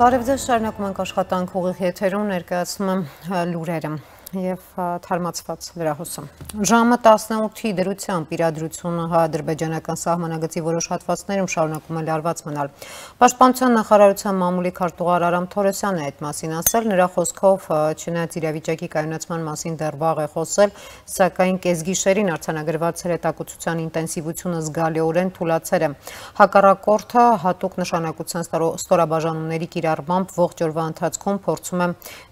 Բարև ձեզ, շարունակում ենք աշխատանք ուղիղ եթերում, ներկայացնում եմ լուրերը և թարմացված լրահոսում։ Ժամը 18-ի դրությամբ իրադրությունը հայ-ադրբեջանական սահմանագծի որոշ հատվածներում շարունակում է լարված մնալ։ Պաշտպանության նախարարության մամուլի քարտուղար Արամ Թորոսյանն է այդ մասին ասել, նրա խոսքով չնայած իրավիճակի կայունացման մասին դեռ վաղ է խոսել, սակայն կեսգիշերին արձանագրված հրետակոծության ինտենսիվությունը զգալիորեն թուլացել է։ Հակառակորդը հատուկ նշանակության ստորաբաժանումների կիրառմամբ ողջ օրվա ընթացքում փորձում է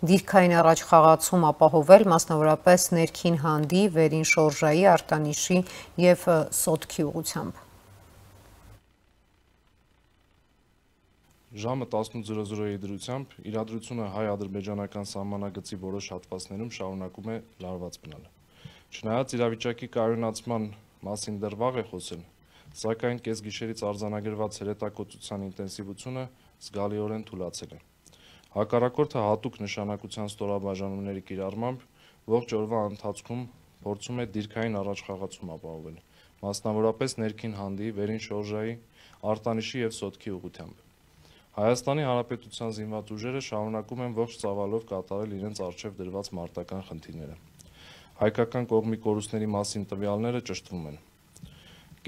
դիրքային առաջխաղացում ապահովել, մասնավորապես ներքին հանդի, վերին շորժայի, արտանիշի և սոտքի ուղղությամբ։ Ժամը 18:00-ի դրությամբ իրադրությունը հայ-ադրբեջանական սահմանագծի որոշ հատվածներում շարունակում է լարված մնալ։ Չնայած իրավիճակի կայունացման մասին դեռ վաղ է խոսել, սակայն կեսգիշերից արձանագրված հրետակոծության ինտենսիվությունը զգալիորեն թուլացել է։ Հակառակորդը հատուկ նշանակության ստորաբաժանումների կիրառմամբ ողջ օրվա ընթացքում փորձում է դիրքային առաջխաղացում ապահովել, մասնավորապես ներքին հանդի, վերին շորժայի, արտանիշի և սոտքի ուղղությամբ։ Հայաստանի Հանրապետության զինված ուժերը շարունակում են ողջ ծավալով կատարել իրենց առջև դրված մարտական խնդիրները։ Հայկական կողմի կորուստների մասին տվյալները ճշտվում են։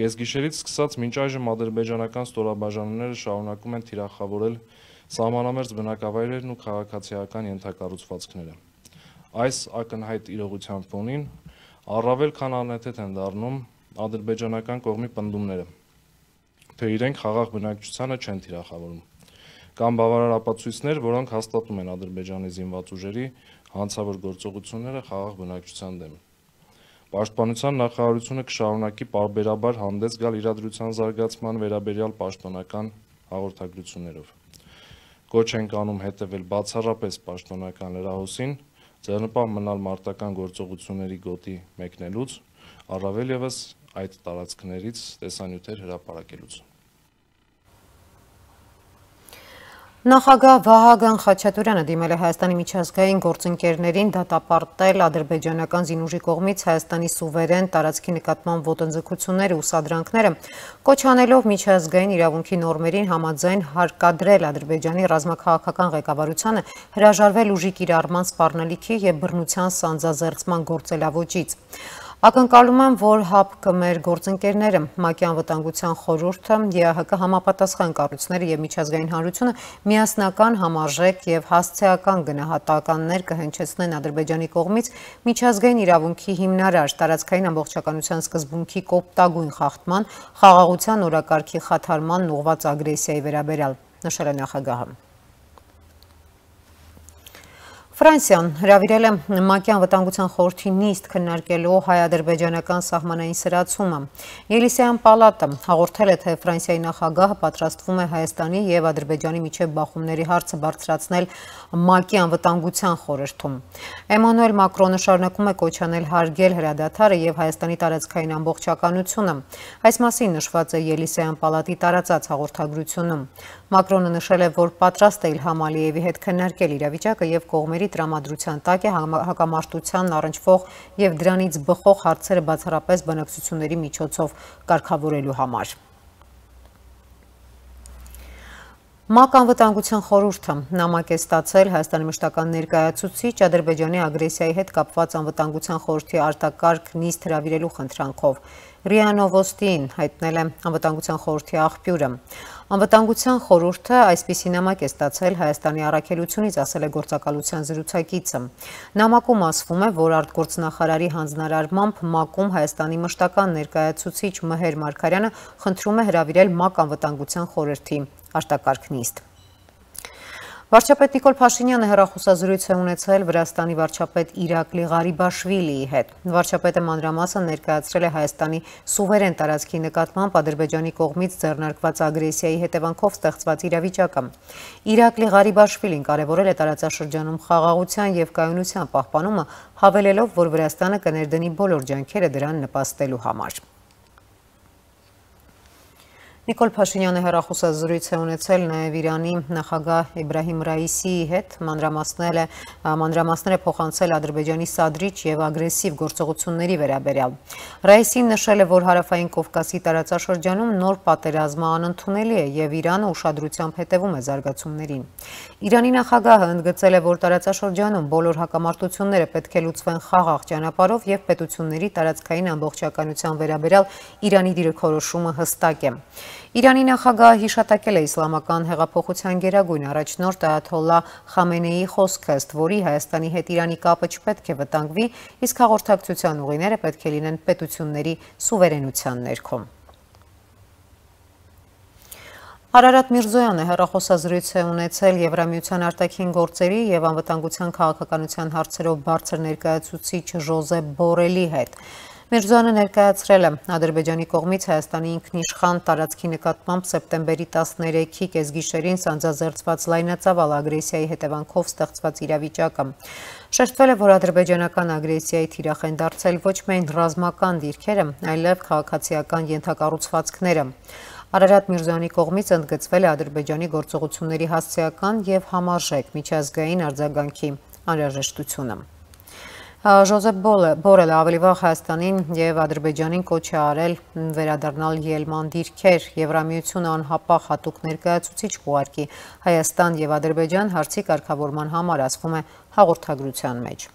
Կեսգիշերից սկսած մինչ այժմ ադրբեջանական ստորաբաժանումները շարունակում են թիրախավորել սահմանամերձ բնակավայրերն ու քաղաքացիական ենթակառուցվածքները։ Այս ակնհայտ իրողության ֆոնին առավել քան անհեթեթ են դառնում ադրբեջանական կողմի պնդումները, թե իրենք խաղաղ բնակչությանը չեն թիրախավորում, կամ բավարար ապացույցներ, որոնք հաստատում են Ադրբեջանի զինված ուժերի հանցավոր գործողությունները խաղաղ բնակչության դեմ։ Պաշտպանության նախարարությունը կշարունակի պարբերաբար հանդես գալ իրադրության զարգացման վերաբերյալ պաշտոնական հաղորդագրություններով։ Կոչ ենք անում հետևել բացառապես պաշտոնական լրահոսին, ձեռնպահ մնալ մարտական գործողությունների գոտի մեկնելուց, առավել ևս այդ տարածքներից տեսանյութեր հրապարակելուց։ Նախագահ Վահագն Խաչատուրյանը դիմել է Հայաստանի միջազգային գործընկերներին դատապարտել ադրբեջանական զինուժի կողմից Հայաստանի սուվերեն տարածքի նկատմամբ ոտնձգությունները ու սադրանքները, կոչ անելով միջազգային իրավունքի նորմերին համաձայն հարկադրել Ադրբեջանի ռազմաքաղաքական ղեկավարությանը հրաժարվել ուժի կիրառման սպառնալիքի և բռնության սանձազերծման գործելավոճից։ Ակնկալում եմ, որ ՀԱՊԿ մեր գործընկերները, ՄԱԿ-ի անվտանգության խորհուրդը, ԵԱՀԿ համապատասխան կառույցները և միջազգային հանրությունը միասնական, համարժեք և հասցեական գնահատականներ կհնչեցնեն Ադրբեջանի կողմից միջազգային իրավունքի հիմնարար տարածքային ամբողջականության սկզբունքի կոպտագույն խախտման, խաղաղության օրակարգի խաթարմանն ուղղված ագրեսիայի վերաբերյալ, նշել է նախագահը։ Ֆրանսիան հրավիրել է ՄԱԿ-ի անվտանգության խորհրդի նիստ քննարկելու հայ-ադրբեջանական սահմանային սրացումը։ Ելիսեյան պալատը հաղորդել է, թե Ֆրանսիայի նախագահը պատրաստվում է Հայաստանի և Ադրբեջանի միջև բախումների հարցը բարձրացնել ՄԱԿ-ի անվտանգության խորհրդում։ Էմանուել Մակրոնը շարունակում է կոչ անել հարգել հրադադարը և Հայաստանի տարածքային ամբողջականությունը։ Այս մասին նշված է Ելիսեյան պալատի տարածած հաղորդագրությունում։ Մակրոնը նշել է, որ պատրաստ է Իլհամ Ալիևի հետ քննարկել իրավիճակը և կողմերի տրամադրության տակ է հակամարտությանն առնչվող և դրանից բխող հարցերը բացառապես բանակցությունների միջոցով կարգավորելու համար։ ՄԱԿ անվտանգության խորհուրդը նամակ է ստացել Հայաստանի մշտական ներկայացուցիչ Ադրբեջանի ագրեսիայի հետ կապված անվտանգության խորհրդի արտակարգ նիստ հրավիրելու խնդրանքով։ ՌԻԱ Նովոստիին հայտնել է անվտանգության խորհրդի աղբյուրը։ Անվտանգության խորհուրդը այսպիսի նամակ է ստացել Հայաստանի առաքելությունից, ասել է գործակալության զրուցակիցը։ Նամակում ասվում է, որ արտգործնախարարի հանձնարարմամբ ՄԱԿ-ում Հայաստանի մշտական ներկայացուցիչ Մհեր Մարգարյանը խնդրում է հրավիրել ՄԱԿ անվտանգության խորհրդի արտակարգ նիստ։ Վարչապետ Նիկոլ Փաշինյանը հեռախոսազրույց է ունեցել Վրաստանի վարչապետ Իրակլի Ղարիբաշվիլիի հետ։ Վարչապետը մանրամասն ներկայացրել է Հայաստանի սուվերեն տարածքի նկատմամբ Ադրբեջանի կողմից ձեռնարկված ագրեսիայի հետևանքով ստեղծված իրավիճակը։ Իրակլի Ղարիբաշվիլին կարևորել է տարածաշրջանում խաղաղության և կայունության պահպանումը, հավելելով, որ Վրաստանը կներդնի բոլոր ջանքերը դրան նպաստելու համար։ Նիկոլ Փաշինյանը հեռախոսազրույց է ունեցել նաև Իրանի նախագահ Իբրահիմ Ռայիսիի հետ, մանրամասները փոխանցել Ադրբեջանի սադրիչ եւ ագրեսիվ գործողությունների վերաբերյալ։ Ռայիսին նշել է, որ Հարավային Կովկասի տարածաշրջանում նոր պատերազմը անընդունելի է եւ Իրանը ուշադրությամբ հետևում է զարգացումներին։ Իրանի նախագահը ընդգծել է, որ տարածաշրջանում բոլոր հակամարտությունները պետք է լուծվեն խաղաղ ճանապարհով եւ պետությունների տարածքային ամբողջականության վերաբերյալ Իրանի դիրքորոշումը հստակ է։ Իրանի նախագահը հիշատակել է իսլամական հեղափոխության գերագույն առաջնորդ Այաթոլլահ Խամենեիի խոսքը, ըստ որի Հայաստանի հետ Իրանի կապը չպետք է վտանգվի, իսկ հաղորդակցության ուղիները պետք է լինեն պետությունների սուվերենության ներքո։ Արարատ Միրզոյանը հեռախոսազրույց է ունեցել Եվրամիության արտաքին գործերի եւ անվտանգության քաղաքականության հարցերով բարձր ներկայացուցիչ Ժոզեփ Բորելի հետ։ Միրզոյանը ներկայացրել է Ադրբեջանի կողմից Հայաստանի ինքնիշխան տարածքի նկատմամբ սեպտեմբերի 13-ի կեսգիշերին սանձազերծված լայնածավալ ագրեսիայի հետևանքով ստեղծված իրավիճակը։ Շեշտվել է, որ ադրբեջանական ագրեսիայի թիրախ են դարձել ոչ միայն ռազմական դիրքերը, այլև քաղաքացիական ենթակառուցվածքները։ Արարատ Միրզոյանի կողմից ընդգծվել է Ադրբեջանի գործողությունների հասցեական եւ համարժեք միջազգային արձագանքի անհրաժեշտությունը։ Ժոզեփ Բորելը ավելի վաղ Հայաստանին եւ Ադրբեջանին կոչ է արել վերադառնալ ելման դիրքեր, Եվրամիությունը անհապաղ հատուկ ներկայացուցիչ կուղարկի Հայաստան եւ Ադրբեջան հարցի կարգավորման համար, ասվում է հաղորդագրության մեջ։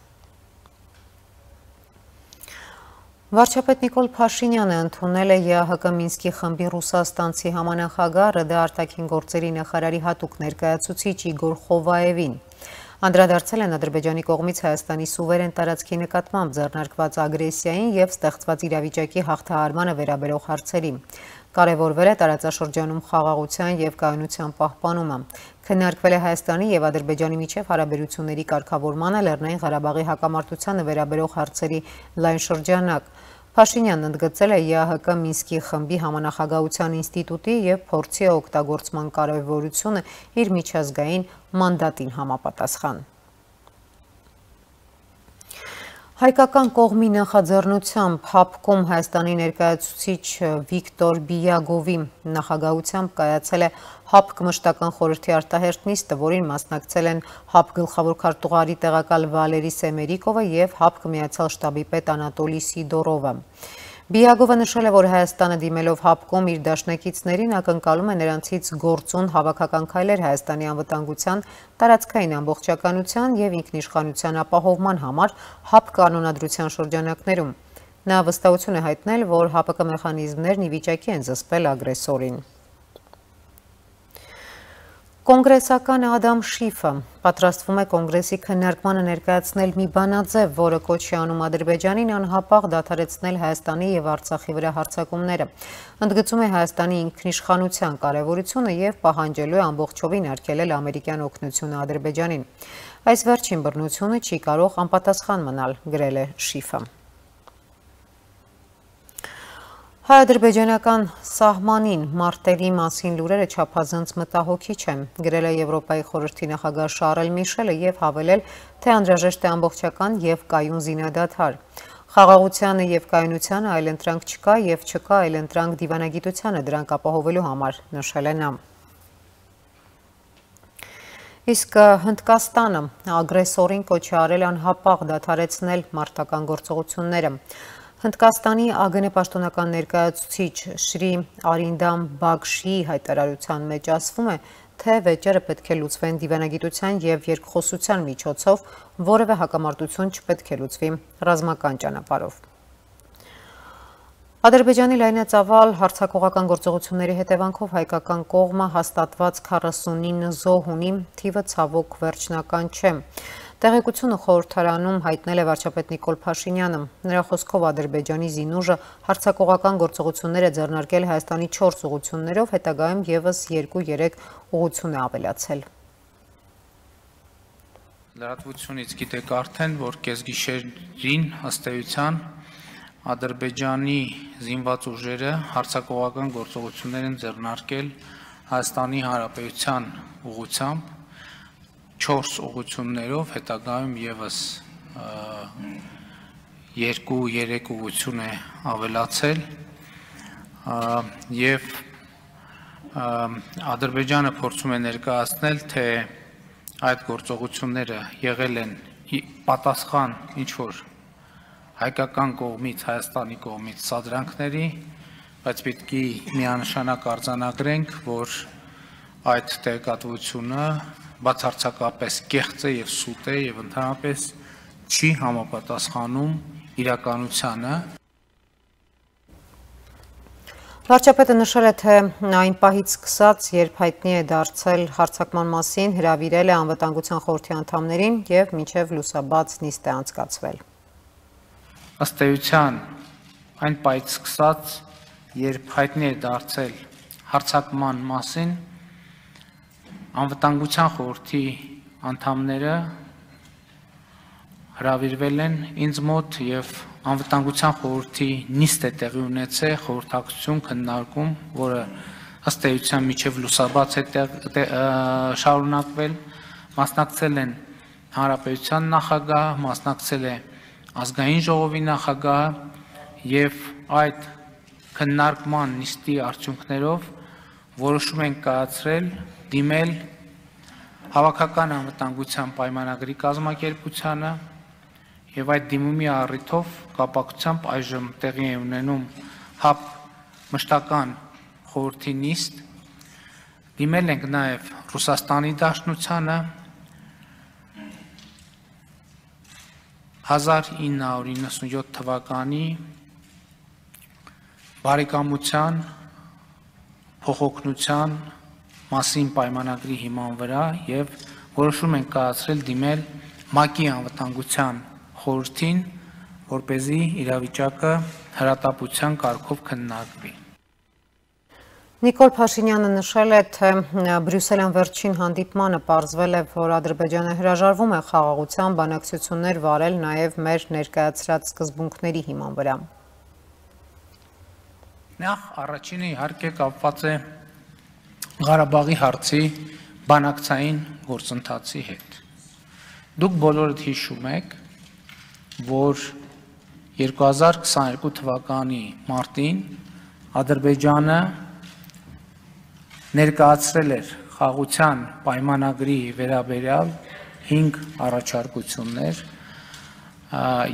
Վարչապետ Նիկոլ Փաշինյանը ընդունել է ԵԱՀԿ Մինսկի խմբի ռուսաստանցի համանախագահ ՌԴ արտաքին գործերի նախարարի հատուկ ներկայացուցիչ Իգոր Խովաևին։ Անդրադարձել են Ադրբեջանի կողմից Հայաստանի սուվերեն տարածքի նկատմամբ ձեռնարկված ագրեսիային եւ ստեղծված իրավիճակի հաղթահարմանը վերաբերող հարցերի։ Կարևորվել է տարածաշրջանում խաղաղության եւ կայունության պահպանումը։ Քննարկվել է Հայաստանի եւ Ադրբեջանի միջև հարաբերությունների կարգավորմանը, Լեռնային Ղարաբաղի հակամարտությանը վերաբերող հարցերի լայն շրջանակ։ Փաշինյանն ընդգծել է ԵԱՀԿ Մինսկի խմբի համանախագահության ինստիտուտի եւ փորձի օգտագործման կարեւորությունը իր միջազգային մանդատին համապատասխան։ Հայկական կողմի նախաձեռնությամբ ՀԱՊԿ-ում Հայաստանի ներկայացուցիչ Վիկտոր Բիագովի նախագահությամբ կայացել է ՀԱՊԿ մշտական խորհրդի արտահերթ նիստը, որին մասնակցել են ՀԱՊԿ գլխավոր քարտուղարի տեղակալ Վալերի Սեմերիկովը եւ ՀԱՊԿ միացյալ շտաբի պետ Անատոլի Սիդորովը։ Բիագովը նշել է, որ Հայաստանը դիմելով ՀԱՊԿ-ում իր դաշնակիցներին ակնկալում է նրանցից գործուն հավաքական քայլեր Հայաստանի անվտանգության, տարածքային ամբողջականության եւ ինքնիշխանության ապահովման համար ՀԱՊԿ կանոնադրության շրջանակներում։ Նա վստահություն է հայտնել, որ ՀԱՊԿ մեխանիզմներն ի վիճակի են զսպել ագրեսորին։ Կոնգրեսական Ադամ Շիֆը պատրաստվում է կոնգրեսի քննարկմանը ներկայացնել մի բանաձև, որը կոչ է անում Ադրբեջանին անհապաղ դադարեցնել Հայաստանի եւ Արցախի վրա հարձակումները։ Ընդգծում է Հայաստանի ինքնիշխանության կարեւորությունը եւ պահանջելու է ամբողջովին արգելել ամերիկյան օգնությունը Ադրբեջանին։ Այս վերջին բռնությունը չի կարող անպատասխան մնալ, գրել է Շիֆը։ Հայ-ադրբեջանական սահմանին մարտերի մասին լուրերը չափազանց մտահոգիչ են, գրել է Եվրոպայի խորհրդի նախագահ Շարլ Միշելը եւ հավելել, թե անհրաժեշտ է ամբողջական եւ կայուն զինադադար։ Խաղաղությանը եւ կայունությանը այլընտրանք չկա եւ չկա այլընտրանք դիվանագիտությանը դրանք ապահովելու համար, նշել է նա։ Իսկ Հնդկաստանը ագրեսորին կոչ է արել անհապաղ դադարեցնել մարտական գործողությունները։ Հնդկաստանի ԱԳՆ պաշտոնական ներկայացուցիչ Շրի Արինդամ Բագշիի հայտարարության մեջ ասվում է, թե վեճերը պետք է լուծվեն դիվանագիտության եւ երկխոսության միջոցով, որևէ հակամարտություն չպետք է լուծվի ռազմական ճանապարհով։ Ադրբեջանի լայնածավալ հարձակողական գործողությունների հետևանքով հայկական կողմը հաստատված 49 զոհ ունի, թիվը ցավոք վերջնական չէ։ Տեղեկությունը խորհրդարանում հայտնել է վարչապետ Նիկոլ Փաշինյանը։ Նրա խոսքով Ադրբեջանի զինուժը հարձակողական գործողություններ է ձեռնարկել Հայաստանի 4 ուղղություններով, հետագայում եւս 2-3 ուղղություն է ավելացել։ Լրատվությունից գիտեք արդեն, որ կեսգիշերին ըստ էության Ադրբեջանի զինված ուժերը հարձակողական գործողություններ են ձեռնարկել Հայաստանի Հանրապետության ուղղությամբ 4 ուղղություններով, հետագայում եւս 2-3 ուղղություն է ավելացել եւ Ադրբեջանը փորձում է ներկայացնել, թե այդ գործողությունները եղել են պատասխան ինչ-որ հայկական կողմից, Հայաստանի կողմից սադրանքների, բայց պետք է միանշանակ արձանագրենք, որ այդ տեղեկատվությունը բացարձակապես կեղծ է եւ սուտ է եւ ընդհանրապես չի համապատասխանում իրականությանը։ Վարչապետը նշել է, թե այն պահից սկսած, երբ հայտնի է դարձել հարձակման մասին, հրավիրել է անվտանգության խորհրդի անդամներին եւ մինչեւ լուսաբաց նիստ է անցկացվել։ Ըստ էության, այն պահից սկսած, երբ հայտնի է դարձել հարձակման մասին, անվտանգության խորհրդի անդամները հրավիրվել են ինձ մոտ եւ անվտանգության խորհրդի նիստ է տեղի ունեցել խորհրդակցություն քննարկում, որը ըստ էության միջև լուսաբաց է շարունակվել, մասնակցել են հանրապետության նախագահ, մասնակցել է ազգային ժողովի նախագահ եւ այդ քննարկման նիստի արդյունքներով որոշում են կայացրել դիմել հավաքական անվտանգության պայմանագրի կազմակերպությանը եւ այդ դիմումի առիթով կապակցությամբ այժմ տեղի է ունենում ՀԱՊ մշտական խորհրդի նիստ, դիմել ենք նաեւ Ռուսաստանի Դաշնությանը 1997 թվականի բարեկամության փոխօգնության մասին պայմանագրի հիման վրա եւ որոշում են կայացրել դիմել ՄԱԿ-ի անվտանգության խորհրդին, որպեսզի իրավիճակը հրատապության կարգով քննարկվի։ Նիկոլ Փաշինյանը նշել է, թե Բրյուսելյան վերջին հանդիպմանը պարզվել է, որ Ադրբեջանը հրաժարվում է խաղաղության բանակցություններ վարել նաև մեր ներկայացրած սկզբունքների հիման վրա։ Նախ առաջինը իհարկե կապված է Ղարաբաղի հարցի բանակցային գործընթացի հետ։ Դուք բոլորդ հիշում եք, որ 2022 թվականի մարտին Ադրբեջանը ներկայացրել էր խաղաղության պայմանագրի վերաբերյալ 5 առաջարկություններ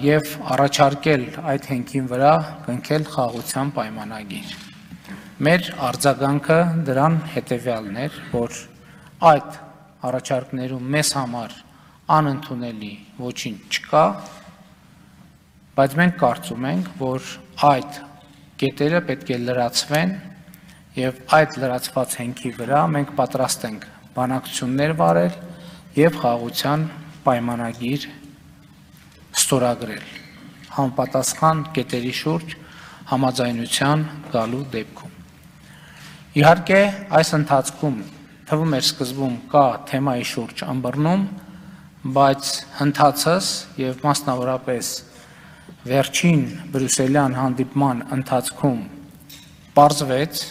եւ առաջարկել այդ հենքին վրա կնքել խաղաղության պայմանագիր։ Մեր արձագանքը դրան հետեւյալն էր, որ այդ առաջարկներում մեզ համար անընդունելի ոչինչ չկա, բայց մենք կարծում ենք, որ այդ կետերը պետք է լրացվեն եւ այդ լրացված հենքի վրա մենք պատրաստ ենք բանակցություններ վարել եւ խաղաղության պայմանագիր ստորագրել համապատասխան կետերի շուրջ համաձայնության գալու դեպքում։ Իհարկե, այս ընթացքում թվում էր սկզբում կա թեմայի շուրջ ըմբռնում, բայց հնդածս եւ մասնավորապես վերջին բրյուսելյան հանդիպման ընթացքում պարզվեց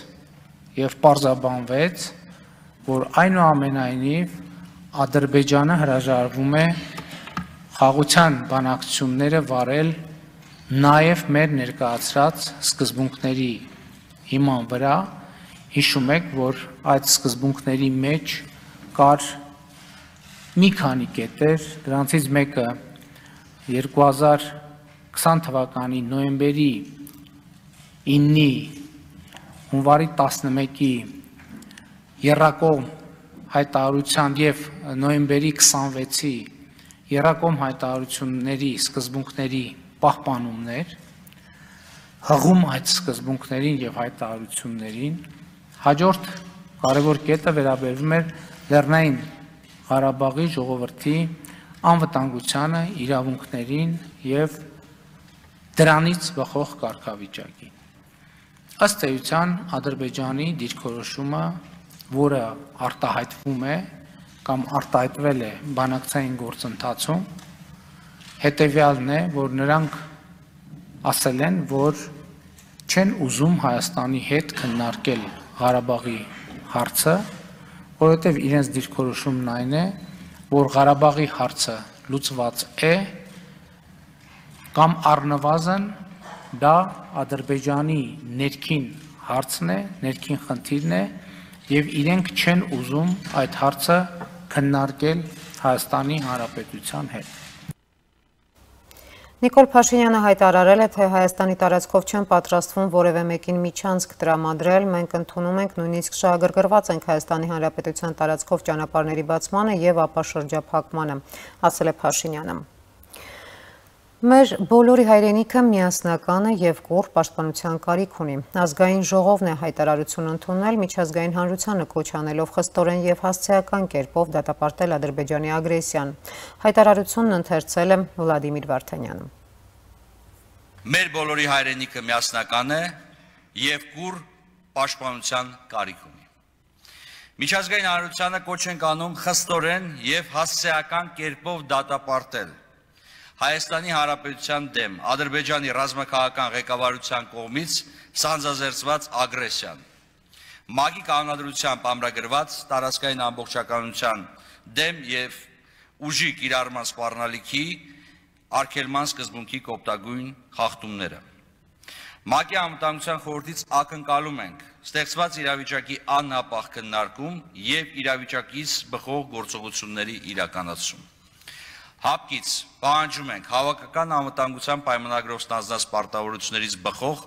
եւ պարզաբանվեց, որ այնուամենայնիվ Ադրբեջանը հրաժարվում է խաղաղության բանակցությունները վարել նաեւ մեր ներկայացրած սկզբունքների հիման վրա։ Հիշում եք, որ այդ սկզբունքների մեջ կար մի քանի կետեր, դրանցից մեկը 2020 թվականի նոյեմբերի 9-ի հունվարի 11-ի եռակողմ հայտարարության եւ նոյեմբերի 26-ի եռակողմ հայտարարությունների սկզբունքների պահպանումներ, հղում այդ սկզբունքներին եւ հայտարարություններին, հաջորդ կարևոր կետը վերաբերվում էր Լեռնային Ղարաբաղի ժողովրդի անվտանգությանը, իրավունքներին եւ դրանից բխող կարգավիճակին։ Ըստ էության Ադրբեջանի դիրքորոշումը, որը արտահայտվում է կամ արտահայտվել է բանակցային գործընթացում, հետեւյալն է, որ նրանք ասել են, որ չեն ուզում Հայաստանի հետ քննարկել Ղարաբաղի հարցը, որովհետև իրենց դիրքորոշումն այն է, որ Ղարաբաղի հարցը լուծված է կամ առնվազն դա Ադրբեջանի ներքին հարցն է, ներքին խնդիրն է եւ իրենք չեն ուզում այդ հարցը քննարկել Հայաստանի Հանրապետության հետ։ Նիկոլ Փաշինյանը հայտարարել է, թե Հայաստանի տարածքով չեն պատրաստվում որևէ մեկին միջանցք տրամադրել, մենք ընդունում ենք, նույնիսկ շահագրգռված ենք Հայաստանի Հանրապետության տարածքով ճանապարհների բացմանը եւ ապա շրջափակմանը, ասել է Փաշինյանը։ Մեր բոլորի հայրենիքը միասնական է եւ կուռ պաշտպանության կարիք ունի։ Ազգային ժողովն է հայտարարություն ընդունել, միջազգային հանրությանը կոչ անելով խստորեն եւ հասցեական կերպով դատապարտել Ադրբեջանի ագրեսիան։ Հայտարարությունն ընթերցել է Վլադիմիր Վարդանյանը։ Մեր բոլորի հայրենիքը միասնական է եւ կուռ պաշտպանության կարիք ունի։ Միջազգային հանրությանը կոչ ենք անում խստորեն եւ հասցեական կերպով դատապարտել Հայաստանի Հանրապետության դեմ Ադրբեջանի ռազմաքաղաքական ղեկավարության կողմից սանձազերծված ագրեսիան, ՄԱԿ-ի կանոնադրությամբ ամրագրված տարածքային ամբողջականության դեմ եւ ուժի կիրառման սպառնալիքի արգելման սկզբունքի կոպտագույն խախտումները։ ՄԱԿ-ի Անվտանգության խորհրդից ակնկալում ենք ստեղծված իրավիճակի անհապաղ քննարկում եւ իրավիճակից բխող գործողությունների իրականացում։ Հապկից պահանջում ենք հավաքական անվտանգության պայմանագրով ստանձնած պարտավորություններից բխող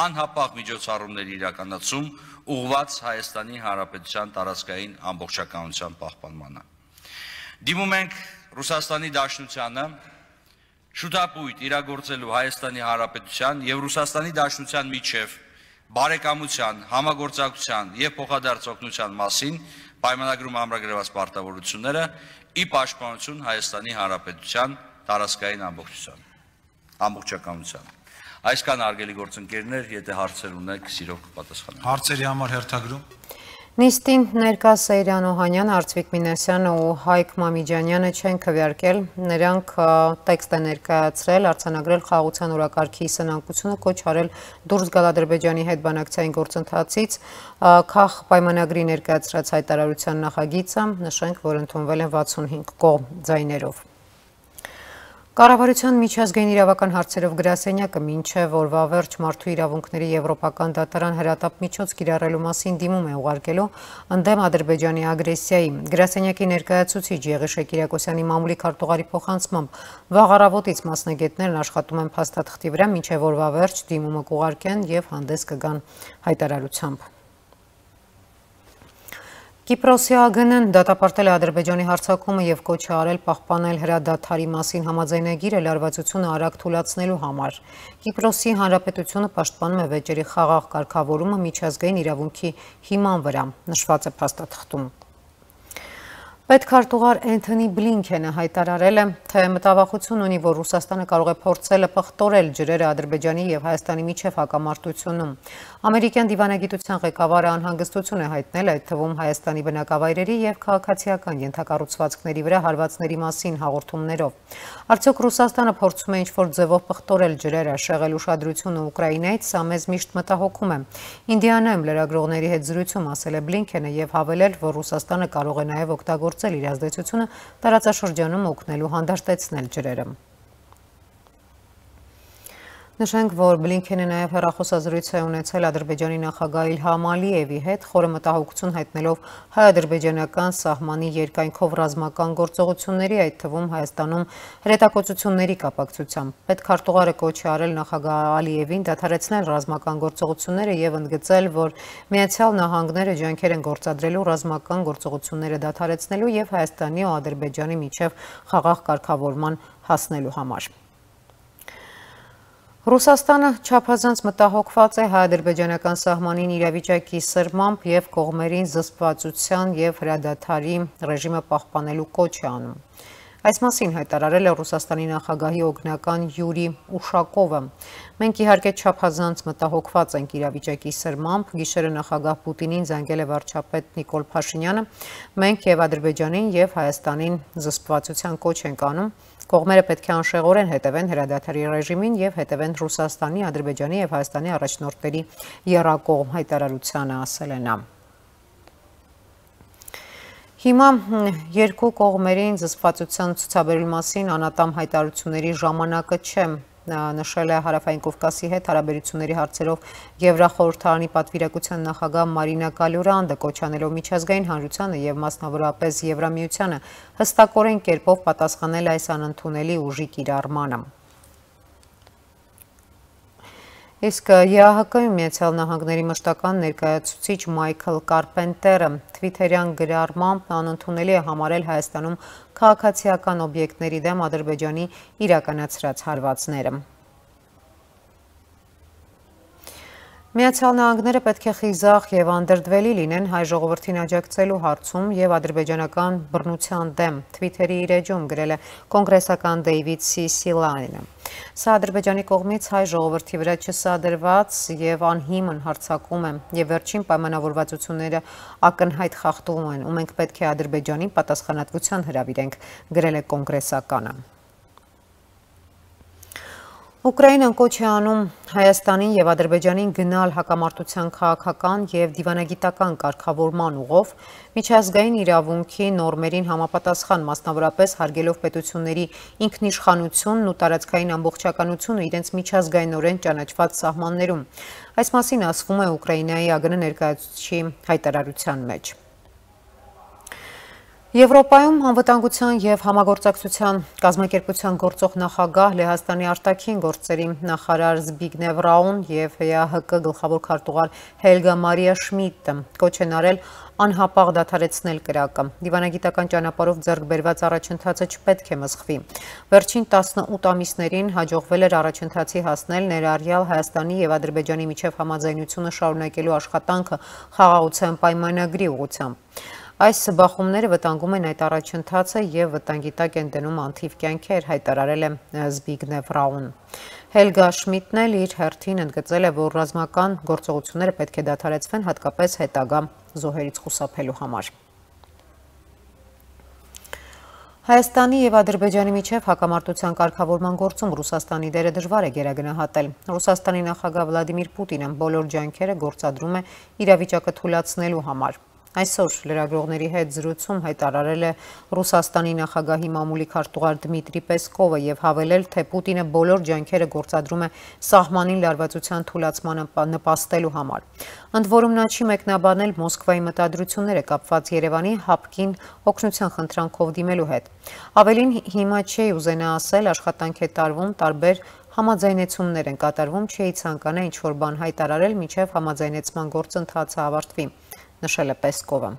անհապաղ միջոցառումների իրականացում ուղղված Հայաստանի Հանրապետության տարածքային ամբողջականության պահպանմանը։ Դիմում ենք Ռուսաստանի Դաշնությանը շուտապույտ իրագործելու Հայաստանի Հանրապետության եւ Ռուսաստանի Դաշնության միջև բարեկամության, համագործակցության եւ փոխադարձ օգնության մասին պայմանագրում ամրագրված պարտավորությունները ի պաշտպանություն Հայաստանի Հանրապետության տարածքային ամբողջականության։ Այսքան արգելի գործընկերներ, եթե հարցեր ունեք, սիրով կպատասխանեմ։ Հարցերի համար հերթագրում։ Նիստին ներկա Սեյրան Օհանյան, Արծվիկ Մինասյանը ու Հայկ Մամիջանյանը չեն քվեարկել, նրանք տեքստ է ներկայացրել, արձանագրել խաղաղության օրակարգի սնանկությունը, կոչ արել դուրս գալ Ադրբեջանի հետ բանակցային գործընթացից, Քախ պայմանագրի ներկայացրած հայտարարության նախագիծը, նշենք, որ ընդունվել են 65 կողմ ձայներով։ Կառավարության միջազգային իրավական հարցերով գրասենյակը մինչև օրվա վերջ մարդու իրավունքների եվրոպական դատարան հրատապ միջոց կիրառելու մասին դիմում է ուղարկելու ընդդեմ Ադրբեջանի ագրեսիայի։ Գրասենյակի ներկայացուցիչ Եղիշե Կիրակոսյանի մամուլի քարտուղարի փոխանցմամբ վաղ առավոտից մասնագետներն աշխատում են փաստաթղթի վրա, մինչև օրվա վերջ դիմումը կուղարկեն եւ հանդես կգան հայտարարությամբ։ Կիպրոսի ԱԳՆ-ն դատապարտել է Ադրբեջանի հարձակումը եւ կոչ է արել պահպանել հրադադարի մասին համաձայնագիրը լարվածությունը արագ թույլատնելու համար։ Կիպրոսի Հանրապետությունը պաշտպանում է վեճերի խաղաղ կարգավորումը միջազգային իրավունքի հիման վրա, նշված է փաստաթղթում։ Պետքարտուղար Էնթոնի Բլինքենը հայտարարել է, թե մտավախություն ունի, որ Ռուսաստանը կարող է փորձել պղտորել ջրերը Ադրբեջանի եւ Հայաստանի միջև հակամարտությունում։ Ամերիկյան դիվանագիտության ղեկավարը անհանգստություն է հայտնել այդ թվում Հայաստանի բնակավայրերի եւ քաղաքացիական ենթակառուցվածքների վրա հարվածների մասին հաղորդումներով։ Արդյոք Ռուսաստանը փորձում է ինչ-որ ձևով պղտորել ջրերը, շեղել ուշադրությունը Ուկրաինայից, սա մեզ միշտ մտահոգում է։ Ինդիանայում լրագրողների հետ զրույցում ասել է Բլինքենը եւ հավելել, որ Ռուսաստանը կարող է նաեւ օգտագործել իր ազդեցությունը տարածաշրջանում օգնելու հանդարտեցնել ջրերը։ Նշենք, որ Բլինքենը նաև հեռախոսազրույց է ունեցել Ադրբեջանի նախագահ Իլհամ Ալիևի հետ, խորը մտահոգություն հայտնելով հայ-ադրբեջանական սահմանի երկայնքով ռազմական գործողությունների, այդ թվում Հայաստանում հրետակոծությունների կապակցությամբ։ Պետքարտուղարը կոչ է արել նախագահ Ալիևին դադարեցնել ռազմական գործողությունները եւ ընդգծել, որ Միացյալ Նահանգները ջանքեր են գործադրելու ռազմական գործողությունները դադարեցնելու եւ Հայաստանի ու Ադրբեջանի միջև խաղաղ կարգավորման հասնելու համար։ Ռուսաստանը չափազանց մտահոգված է հայ-ադրբեջանական սահմանին իրավիճակի սրմամբ եւ կողմերին զսպվածության եւ հրադադարի ռեժիմը պահպանելու կոչ է անում։ Այս մասին հայտարարել է Ռուսաստանի նախագահի օգնական Յուրի Ուշակովը։ Մենք իհարկե չափազանց մտահոգված ենք իրավիճակի սրմամբ, գիշերը նախագահ Պուտինին զանգել է վարչապետ Նիկոլ Փաշինյանը։ Մենք եւ Ադրբեջանին եւ Հայաստանին զսպվածության կոչ ենք անում։ Կողմերը պետք է անշեղորեն հետևեն հրադադարի ռեժիմին եւ հետևեն Ռուսաստանի, Ադրբեջանի եւ Հայաստանի առաջնորդների եռակողմ հայտարարությանը, ասել է նա։ Հիմա երկու կողմերին զսպվածության ցուցաբերելու մասին անատամ հայտարարությունների ժամանակը չէ, նշել է Հարավային Կովկասի հետ հարաբերությունների հարցերով Եվրախորհրդարանի պատվիրակության նախագահ Մարինա Կալյուրանդը, կոչ անելով միջազգային հանրությանը եւ մասնավորապես Եվրամիությանը հստակորեն կերպով պատասխանել այս անընդունելի ուժի կիրառմանը։ Իսկ ԵԱՀԿ-ում Միացյալ Նահանգների մշտական ներկայացուցիչ Մայքլ Կարպենտերը թվիթերյան գրառմամբ անընդունելի է համարել Հայաստանում քաղաքացիական օբյեկտների դեմ Ադրբեջանի իրականացրած հարվածները։ Միացյալ Նահանգները պետք է խիզախ եւ անդրդվելի լինեն հայ ժողովրդին աջակցելու հարցում եւ ադրբեջանական բռնության դեմ, թվիթերի իր էջում գրել է կոնգրեսական Դեյվիդ Սիսիլայնը։ Սա Ադրբեջանի կողմից հայ ժողովրդի վրա չսադրված եւ անհիմն հարձակում է եւ վերջին պայմանավորվածությունները ակնհայտ խախտում են, ու մենք պետք է Ադրբեջանին պատասխանատվության հրավիրենք, գրել է կոնգրեսականը։ Ուկրաինան կոչ է անում Հայաստանին եւ Ադրբեջանին գնալ հակամարտության քաղաքական եւ դիվանագիտական կարգավորման ուղով, միջազգային իրավունքի նորմերին համապատասխան, մասնավորապես հարգելով պետությունների ինքնիշխանությունն ու տարածքային ամբողջականությունը իրենց միջազգայինորեն ճանաչված սահմաններում։ Այս մասին ասվում է Ուկրաինայի ԱԳՆ ներկայացուցչի հայտարարության մեջ։ Եվրոպայում անվտանգության եւ համագործակցության կազմակերպության գործող նախագահ Լեհաստանի արտաքին գործերի նախարար Զբիգնև Ռաուն եւ ԵԱՀԿ գլխավոր քարտուղար Հելգա Մարիա Շմիդտը կոչ են արել անհապաղ դադարեցնել կրակը։ Դիվանագիտական ճանապարհով ձեռք բերված առաջընթացը չպետք է մսխվի։ Վերջին 18 ամիսներին հաջողվել էր առաջընթացի հասնել ներառյալ Հայաստանի եւ Ադրբեջանի միջև համաձայնությունը շարունակելու աշխատանքը խաղաղության պայմանագրի ուղղությամբ։ Այս բախումները վտանգում են այդ առաջընթացը եւ վտանգի տակ են դնում անթիվ կյանքեր, հայտարարել է Զբիգնև Ռաուն։ Հելգա Շմիդտն էլ իր հերթին ընդգծել է, որ ռազմական գործողությունները պետք է դադարեցվեն հատկապես հետագա զոհերից խուսափելու համար։ Հայաստանի եւ Ադրբեջանի միջև հակամարտության կարգավորման գործում Ռուսաստանի դերը դժվար է գերագնահատել։ Ռուսաստանի նախագահ Վլադիմիր Պուտինը բոլոր ջանքերը գործադրում է իրավիճակը թույլատնելու համար։ Այսօր լրագրողների հետ զրույցում հայտարարել է Ռուսաստանի նախագահի մամուլի քարտուղար Դմիտրի Պեսկովը եւ հավելել, թե Պուտինը բոլոր ջանքերը գործադրում է սահմանին լարվածության թույլատնմանը նպաստելու համար։ Ընդ որում նա չի մեկնաբանել Մոսկվայի մտադրությունները կապված Երևանի հապկին օգնության խնդրանքով դիմելու հետ։ Ավելին, հիմա չի ուզենա ասել, աշխատանք է տարվում, տարբեր համաձայնեցումներ են կատարվում, չի ցանկանա ինչ-որ բան հայտարարել, մինչև համաձայնեցման գործընթացը ավարտվի, նշել է Պեսկովը։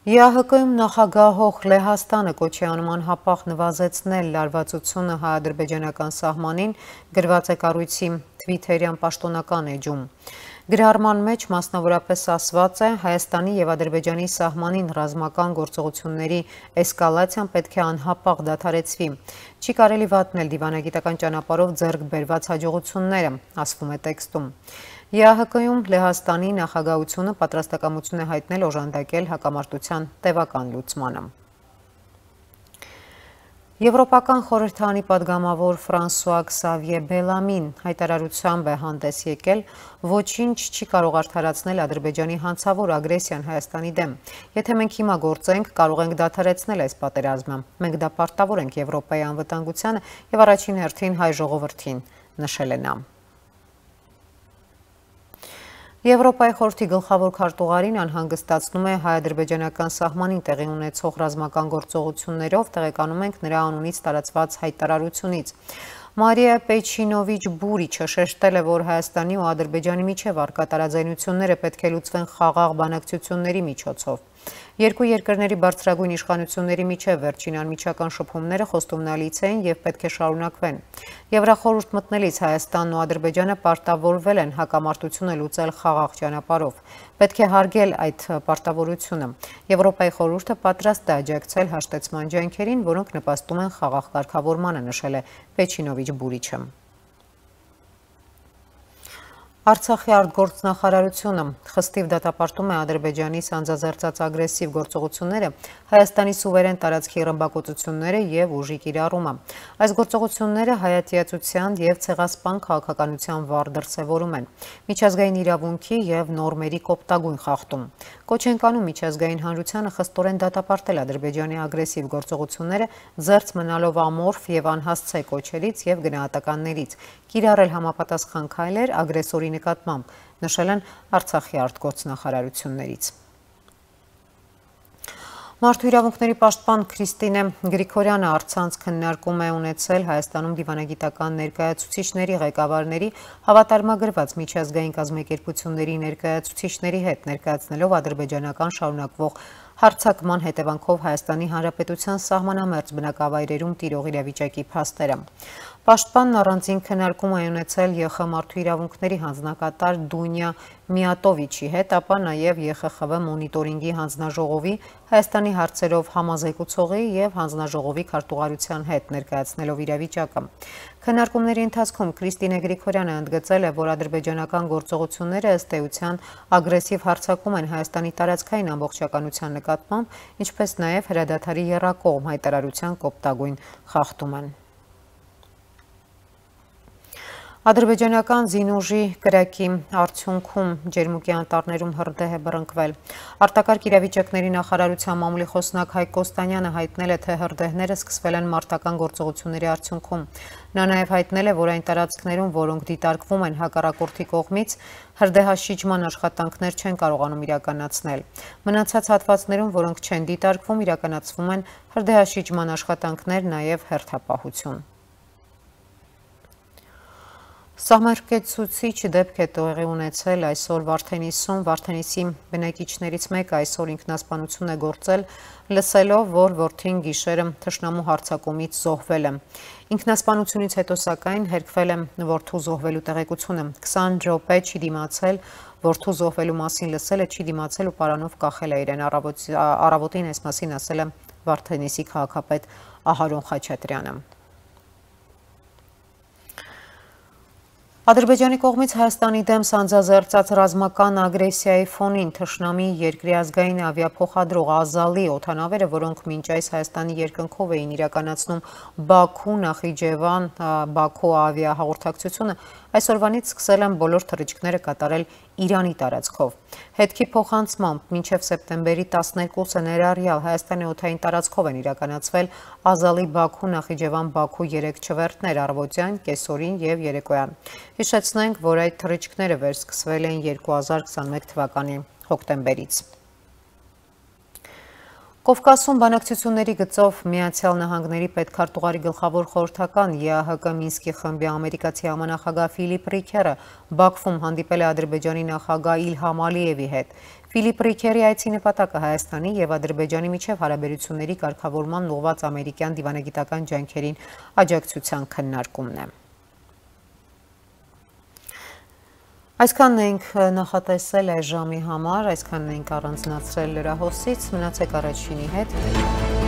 ԵԱՀԿ-ում նախագահող Լեհաստանը կոչ է անում անհապաղ նվազեցնել լարվածությունը հայ-ադրբեջանական սահմանին, գրված է կառույցի թվիթերյան պաշտոնական էջում։ Գրառման մեջ մասնավորապես ասված է, Հայաստանի եւ Ադրբեջանի սահմանին ռազմական գործողությունների էսկալացիան պետք է անհապաղ դադարեցվի։ Չի կարելի վատնել դիվանագիտական ճանապարհով ձեռք բերված հաջողությունները, ասվում է տեքստում։ ԵԱՀԿ-ում Լեհաստանի նախագահությունը պատրաստակամություն է հայտնել օժանդակել հակամարտության տևական լուծմանը։ Եվրոպական խորհրդարանի падգամավոր Ֆրանսուଆ Քսավիե Բելամին հայտարարությամբ է հանդես եկել, ոչինչ չի կարող արդարացնել Ադրբեջանի հանցավոր ագրեսիան Հայաստանի դեմ։ Եթե մենք հիմա գործենք, կարող ենք դադարեցնել այս պատերազմը։ Մենք դա պարտավոր ենք Եվրոպայի անվտանգությանը եւ առաջին հերթին հայ ժողովրդին, նշել է նա։ Եվրոպայի խորհրդի գլխավոր քարտուղարին անհանգստացնում է հայ-ադրբեջանական սահմանին տեղի ունեցող ռազմական գործողություններով, տեղեկանում ենք նրա անունից տարածված հայտարարությունից։ Մարիա Պեչինովիչ Բուրիչը շեշտել է, որ Հայաստանի ու Ադրբեջանի միջև առկա տարաձայնությունները պետք է լուծվեն խաղաղ բանակցությունների միջոցով։ Երկու երկրների բարձրագույն իշխանությունների միջև վերջին անմիջական շփումները խոստումնալից էին եւ պետք է շարունակվեն։ Եվրախորհուրդ մտնելիս Հայաստանն ու Ադրբեջանը պարտավորվել են հակամարտությունը լուծել խաղաղ ճանապարհով։ Պետք է հարգել այդ պարտավորությունը։ Եվրոպայի խորհուրդը պատրաստ է աջակցել հաշտեցման ջանքերին, որոնք նպաստում են խաղաղ կարգավորմանը, նշել է Պեչինովիչ Բուրիչը։ Արցախի արտգործնախարարությունը խստիվ դատապարտում է Ադրբեջանի սանձազերծած ագրեսիվ գործողությունները, Հայաստանի սուվերեն տարածքի ռմբակոծությունները եւ ուժի կիրառումը։ Այս գործողությունները հայատյացության եւ ցեղասպան քաղաքականության վառ դրսեւորում են, միջազգային իրավունքի եւ նորմերի կոպտագույն խախտում։ Կոչ են կանում միջազգային հանրությանը խստորեն դատապարտել Ադրբեջանի ագրեսիվ գործողությունները, զերծ մնալով ամորֆ եւ անհասցե կոչերից եւ գնահատականներից, կիրառել համապատասխան քայլեր ագրեսորի նկատմամբ, նշել են Արցախի արտգործնախարարություններից։ Մարդու իրավունքների պաշտպան Քրիստինե Գրիգորյանը առցանց քննարկում է ունեցել Հայաստանում դիվանագիտական ներկայացուցիչների ղեկավարների հավատարմագրված միջազգային կազմակերպությունների ներկայացուցիչների հետ, ներկայացնելով ադրբեջանական շարունակվող հարձակման հետևանքով Հայաստանի Հանրապետության սահմանամերձ բնակավայրերում տիրող իրավիճակի փաստերը։ Պաշտպանն առանձին քննարկում է ունեցել ԵԽ մարդու իրավունքների հանձնակատար Դունյա Միատովիչի հետ, ապա նաև ԵԽԽՎ մոնիտորինգի հանձնաժողովի, Հայաստանի հարցերով համազեկուցողի եւ հանձնաժողովի քարտուղարության հետ, ներկայացնելով իրավիճակը։ Քննարկումների ընթացքում Քրիստինե Գրիգորյանը ընդգծել է, որ ադրբեջանական գործողությունները ըստ էության ագրեսիվ հարձակում են Հայաստանի տարածքային ամբողջականության նկատմամբ, ինչպես նաև հրադադարի եռակողմ հայտարարության կոպտագույն խախտում են։ Ադրբեջանական զինուժի կրակի արդյունքում Ջերմուկի անտառներում հրդեհ է բռնկվել։ Արտակարգ իրավիճակների նախարարության մամուլի խոսնակ Հայկ Կոստանյանը հայտնել է, թե հրդեհները սկսվել են մարտական գործողությունների արդյունքում։ Նա նաև հայտնել է, որ այն տարածքներում, որոնք դիտարկվում են հակառակորդի կողմից, հրդեհաշիջման աշխատանքներ չեն կարողանում իրականացնել։ Մնացած հատվածներում, որոնք չեն դիտարկվում, իրականացվում են հրդեհաշիջման աշխատանքներ, նաև հերթապահություն։ Սահմարկեցուցիչ դեպք է տեղի ունեցել այսօր Վարդենիսում։ Վարդենիսի բնակիչներից մեկը այսօր ինքնասպանություն է գործել, լսելով, որ որդին գիշերը թշնամու հարձակումից զոհվել է։ Ինքնասպանությունից հետո սակայն հերքվել է որդու զոհվելու տեղեկությունը։ 20 րոպե չի դիմացել, որդու զոհվելու մասին լսել է, չի դիմացել ու պարանով կախել է իրեն։ Առավոտին այս մասին ասել է Վարդենիսի քաղաքապետ Ահարոն Խաչատրյանը։ Ադրբեջանի կողմից Հայաստանի դեմ սանձազերծած ռազմական ագրեսիայի ֆոնին թշնամի երկրի ազգային ավիափոխադրող Ազալի օդանավերը, որոնք մինչ այս Հայաստանի երկնքով էին իրականացնում Բաքու, Նախիջևան, Բաքու ավիահաղորդակցությունը, այսօրվանից սկսել են բոլոր թռիչքները կատարել Իրանի տարածքով։ Հետքի փոխանցմամբ մինչև սեպտեմբերի 12-ը ներառյալ Հայաստանի օդային տարածքով են իրականացվել Ազալի Բաքու, Նախիջևան, Բաքու 3 չվերթներ առավոտյան, կեսօրին եւ երեկոյան։ Հիշեցնենք, որ այդ թռիչքները վերսկսվել էին 2021 թվականի հոկտեմբերից։ Կովկասում բանակցությունների գծով Միացյալ Նահանգների պետքարտուղարի գլխավոր խորհրդական ԵԱՀԿ Մինսկի խմբի ամերիկացի համանախագահ Ֆիլիպ Ռիքերը Բաքվում հանդիպել է Ադրբեջանի նախագահ Իլհամ Ալիևի հետ։ Ֆիլիպ Ռիքերի այցի նպատակը Հայաստանի եւ Ադրբեջանի միջև հարաբերությունների կարգավորման ուղղված ամերիկյան դիվանագիտական ջանքերին աջակցության քննարկումն է։ Այսքանն ենք նախատեսել այս ժամի համար, այսքանն ենք առանձնացրել լրահոսից, մնացեք առաջինի հետ։